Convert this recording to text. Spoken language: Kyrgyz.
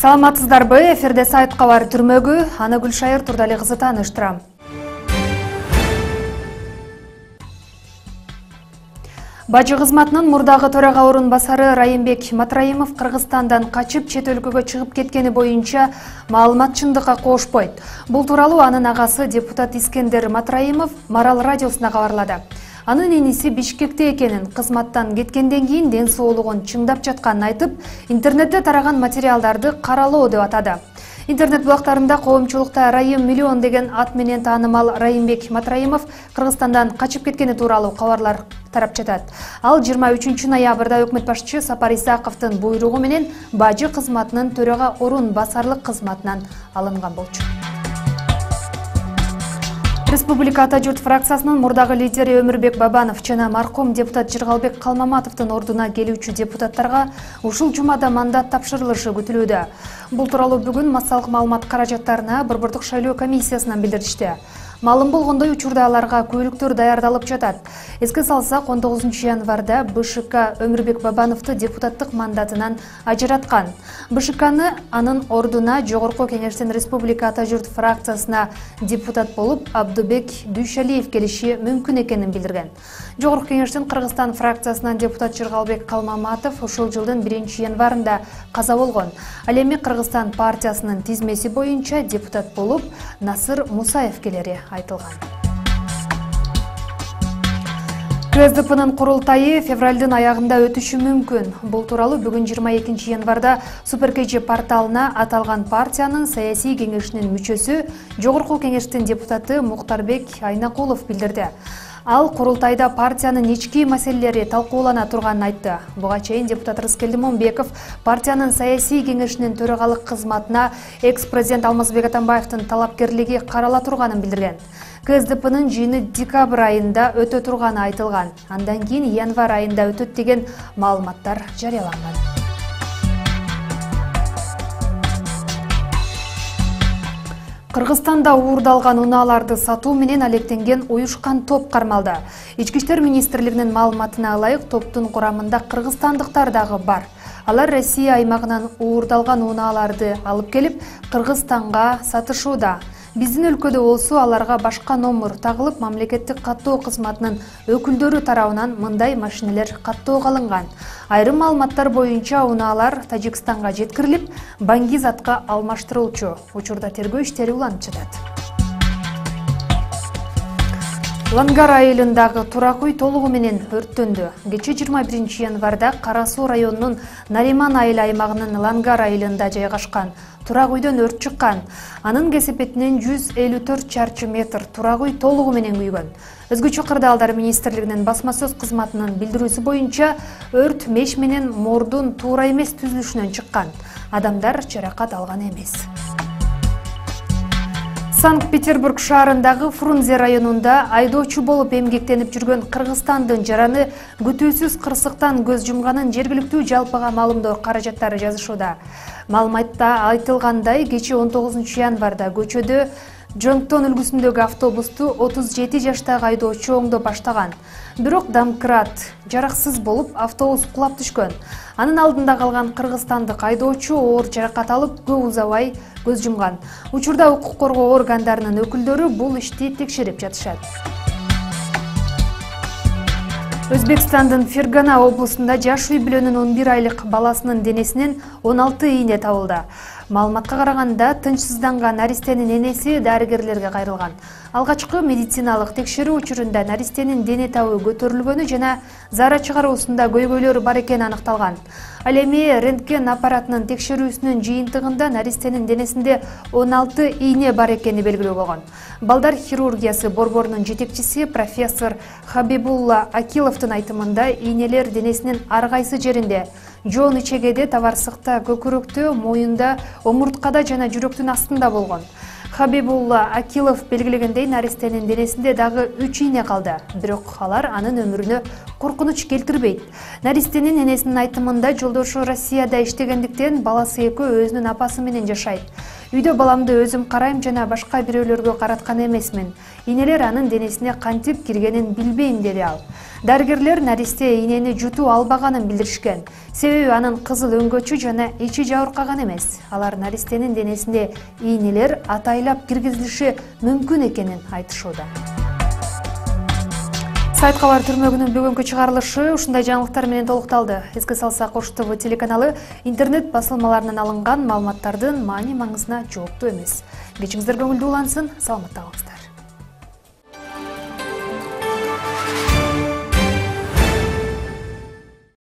Саламатсыздарбы? Эфирде сайт кабар түрмөгү, аны Гүлшайыр Турдали кызы тааныштырам. Бажы кызматынын мурдагы төрага орун басары Райымбек Матраимов Кыргызстандан качып чет өлкөгө чыгып кеткени боюнча маалымат чындыкка кошпойт. Бул тууралуу анын агасы депутат Искендер Матраимов Марал радиосуна кабарлады. Анын иниси Бишкекте экенин, кызматтан кеткенден кийин ден соолугун чыңдап жатканын айтып, интернетте тараган материалдарды каралоо деп атады. Интернет булактарында коомчулукта Райым миллион деген ат менен таанымал Райымбек Матраимов Кыргызстандан качып кеткени тууралуу кабарлар тарап жатат. Ал 23 ноябрда өкмөт башчы Сапар Исаковдун буйругу менен бажы кызматынын төрага орун басарлык кызматынан алынган болчу. Республика Ата журт фракциясынын мурдагы лидери Өмүрбек Бабанов жана марком депутат Жыргалбек Калмаматовдун ордуна келүүчү депутаттарга ушул жумада мандат тапшырылышы күтүлүүдө. Бул тууралуу бүгүн массалык маалымат каражаттарына Борбордук шайлоо комиссиясынан билдиришти. Маалым болгондой, учурда аларга көйлүктөр даярдалып жатат. Эске салсак, 19 январда БШК Өмүрбек Бабановду депутаттык мандатынан ажыраткан. БШКны анын ордуна Жогорку Кеңештин Республика Ата журт фракциясына депутат болуп Абдубек Дүйшалиев келиши мүмкүн экенин билдирген. Жогорку Кеңештин Кыргызстан фракциясынан депутат Жыргалбек Калмаматов ушул жылдын 1 январында каза болгон. Ал эми Кыргызстан партиясынын тизмеси боюнча депутат болуп Насыр Мусаев келери айтылган. КСДПнын курултайы февралдын аягында өтүшү мүмкүн. Бул тууралуу бүгүн 22 январда Суперкеже порталына аталган партиянын саясий кеңешинин мүчөсү, Жогорку Кеңештин депутаты Муктарбек Айнакулов билдирди. Ал курултайда партиянын ички маселелери талкуулана турганын айтты. Буга чейин депутат Рыскелди Момбеков партиянын саясий кеңешинин төрагалык кызматына экс-президент Алмазбек Атамбаевдин талапкерлиги карала турганын билдирген. КСДПнын жыйыны декабрь айында өтө турганы айтылган. Андан кийин январь айында өтөт деген маалыматтар жарыяланган. Кыргызстанда уурдалган унааларды сатуу менен алектенген уюшкан топ кармалды. Ички иштер министрлигинин маалыматына ылайык, топтун курамында кыргызстандыктар дагы бар. Алар Россия аймагынан уурдалган унааларды алып келип, Кыргызстанга сатышууда. Биздин өлкөдө болсо аларга башка номер тагылып, мамлекеттик каттоо кызматынын өкүлдөрү тарабынан мындай машинелер каттоого алынган. Айрым маалыматтар боюнча унаалар Тажикстанга жеткирилип, баңгизатка алмаштырылчу. Учурда тергөө иштери уланып жатат. Лангар айылындагы турак үй толугу менен өрттөндү. Кече 21 январда Кара Суу районунун Нариман айыл аймагынын Лангар айылында жайгашкан турак үйдөн өрт чыккан. Анын кесепетинен 154 чарчы метр турак үй толугу менен күйгөн. Өзгөчө кырдаалдар министрлигинин басма сөз кызматынын билдирүүсү боюнча өрт меш менен мордун туура эмес түзүлүшүнөн чыккан. Адамдар жаракат алган эмес. Санкт-Петербург шаарындагы Фрунзе районунда айдоочу болуп эмгектенип жүргөн Кыргызстандын жараны күтүүсүз кырсыктан көз жумганын жергиликтүү жалпыга маалымдоо каражаттары жазышууда. Маалыматта айтылгандай, кече 19 январда көчөдө Жоңтон үлгүсүндөгү автобусту 37 жаштагы айдоочу оңдоп баштаган. Бирок домкрат жараксыз болуп, автобус кулап түшкөн. Анын алдында калган кыргызстандык айдоочу оор жаракат алып, көп узабай көз жумган. Учурда укук коргоо органдарынын өкүлдөрү бул ишти текшерип жатышат. Өзбекстандын Фергана облусунда жаш үй бүлөнүн 11 айлык баласынын денесинен 16 ийне табылды. Маалыматка караганда, тынчсызданган наристенин энеси дарыгерлерге кайрылган. Алгачкы медициналык текшерүү учурунда наристенин дене табы көтөрүлгөнү жана заара чыгаруусунда көйгөйлөр бар экени аныкталган. Ал эми рентген аппаратынын текшерүүсүнүн жыйынтыгында наристенин денесинде 16 ийне бар экени белгилүү болгон. Балдар хирургиясы борборунун жетекчиси профессор Хабибулла Акиловдун айтымында, ийнелер денесинин ар кайсы жеринде, жоон ичегеде, табарсыкта, көкүрөктө, моюнда, омурткада жана жүрөктүн астында болгон. Хабибулла Акилов белгилегендей, наристенин денесинде дагы 3 ийне калды. Бирок алар анын өмүрүнө коркунуч келтирбейт. Наристенин энесинин айтымында жолдошу Россияда иштегендиктен баласы экөө өзүнүн апасы менен жашайт. Үйдө баламды өзүм карайм жана башка бирөөлөргө караткан эмесмин. Инелер анын денесине кантип киргенин билбейм, деди ал. Дарыгерлер Наристе инени жутуу албаганын билдиришкен. Себеби анын кызыл өңгөчү жана ичи жабыркаган эмес. Алар Наристенин денесине ийнелер атайлап киргизилиши мүмкүн экенин айтышууда. Сайт кабар түрмөгүнүн бүгүнкү чыгарылышы ушундай жаңылыктар менен толукталды. Эске салсак, Ош ТВ телеканалы интернет басылмаларынан алынган маалыматтардын маани маңызына жооптуу эмес. Кечиңиздер көңүлдүү улансын, саламатта калыңыздар.